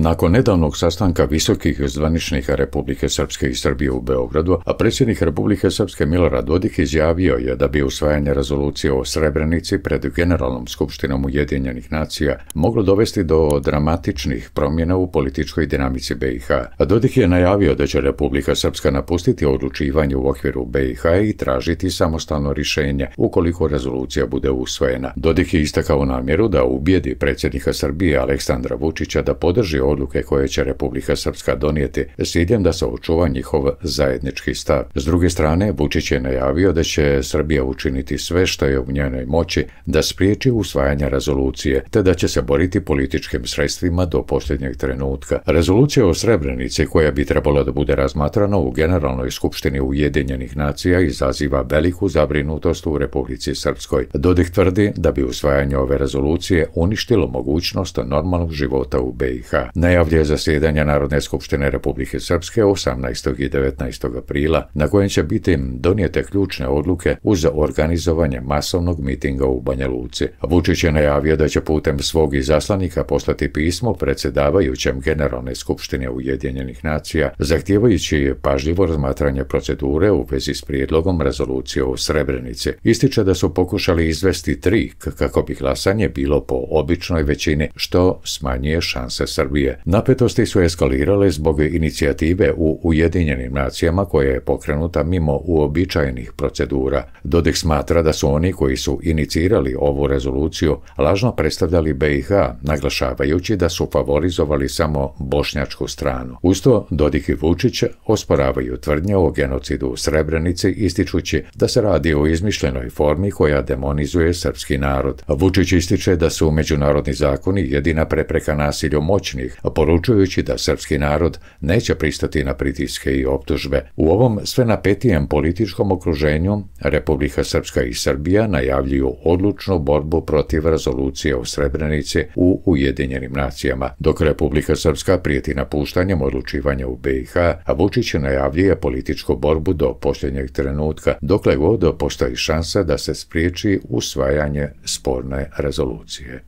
Nakon nedavnog sastanka visokih zvaničnika Republike Srpske i Srbije u Beogradu, a predsjednik Republike Srpske Milorad Dodik izjavio je da bi usvajanje rezolucije o Srebrenici pred Generalnom skupštinom Ujedinjenih nacija moglo dovesti do dramatičnih promjena u političkoj dinamici BiH. Dodik je najavio da će Republika Srpska napustiti odlučivanje u okviru BiH i tražiti samostalno rješenje ukoliko rezolucija bude usvojena. Dodik je istakao namjeru da ubijedi predsjednika Srbije Aleksandra Vučića da podrži odluke koje će Republika Srpska donijeti s ciljem da se očuva njihov zajednički stav. S druge strane, Vučić je najavio da će Srbija učiniti sve što je u njenoj moći da spriječi usvajanje rezolucije, te da će se boriti političkim sredstvima do posljednjeg trenutka. Rezolucija o Srebrenici, koja bi trebala da bude razmatrana u Generalnoj skupštini Ujedinjenih nacija, izaziva veliku zabrinutost u Republici Srpskoj. Dodik tvrdi da bi usvajanje ove rezolucije uništilo mogućnost normalnog života u BiH. Najavljuje zasjedanje Narodne skupštine Republike Srpske 18. i 19. aprila, na kojem će biti donijete ključne odluke uz organizovanje masovnog mitinga u Banja Luci. Vučić je najavio da će putem svog izaslanika poslati pismo predsjedavajućem Generalne skupštine Ujedinjenih nacija, zahtijevajući pažljivo razmatranje procedure u vezi s prijedlogom rezolucije o Srebrenici. Ističe da su pokušali izvesti trik kako bi glasanje bilo po običnoj većini, što smanjuje šanse Srbije. Napetosti su eskalirale zbog inicijative u Ujedinjenim nacijama koja je pokrenuta mimo uobičajenih procedura. Dodik smatra da su oni koji su inicirali ovu rezoluciju lažno predstavljali BiH, naglašavajući da su favorizovali samo bošnjačku stranu. Uz to, Dodik i Vučić osporavaju tvrdnje o genocidu u Srebrenici, ističući da se radi o izmišljenoj formi koja demonizuje srpski narod. Vučić ističe da su međunarodni zakoni jedina prepreka nasilju moćnih, poručujući da srpski narod neće pristati na pritiske i optužbe. U ovom sve napetijem političkom okruženju Republika Srpska i Srbija najavljuju odlučnu borbu protiv rezolucije o Srebrenici u Ujedinjenim nacijama, dok Republika Srpska prijeti napuštanjem odlučivanja u BiH, a Vučić najavljuje političku borbu do posljednjeg trenutka, dokle god postoji šansa da se spriječi usvajanje sporne rezolucije.